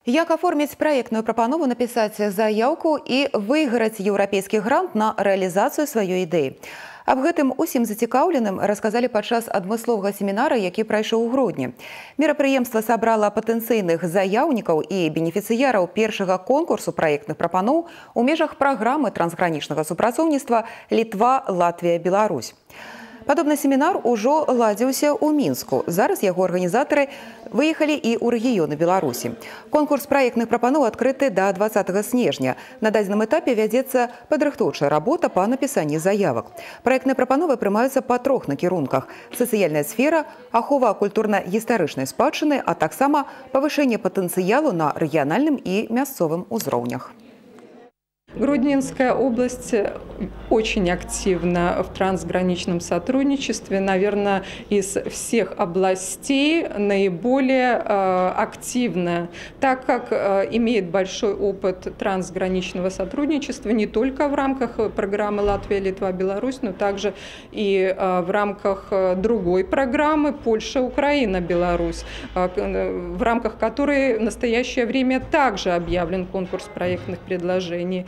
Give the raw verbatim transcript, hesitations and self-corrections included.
Як аформіць праектную прапанову, напісаць заяўку і выйграць еўрапейскі грант на рэалізацыю сваёй ідэі. Аб гэтым усім зацікаўленым расказалі падчас адмысловага семінара, які прайшоў у грудні. Мерапрыемства сабрала патэнцыйных заяўнікаў і бенефіцыяраў першага конкурсу праектных прапаноў у межах праграмы трансгранічнага супрацоўніцтва Літва, Латвія, Беларусь. Падобны семінар ужо ладзіўся ў Мінску. Зараз яго арганізатары выехалі і ў рэгіёны Беларусі. Конкурс праектных прапаноў адкрыты да дваццатага снежня. На дадзеным этапе вядзецца падрыхтоўчая работа па напісанні заявак. Праектныя прапановы прымаюцца па трох накірунках: сацыяльная сфера, ахова культурна-гістарычнай спадчыны, а таксама павышэнне патэнцыялу на рэгіянальным і мясцовым узроўнях. Гродненская область очень активна в трансграничном сотрудничестве. Наверное, из всех областей наиболее э, активна, так как э, имеет большой опыт трансграничного сотрудничества не только в рамках программы «Латвия, Литва, Беларусь», но также и э, в рамках другой программы «Польша, Украина, Беларусь», э, в рамках которой в настоящее время также объявлен конкурс проектных предложений.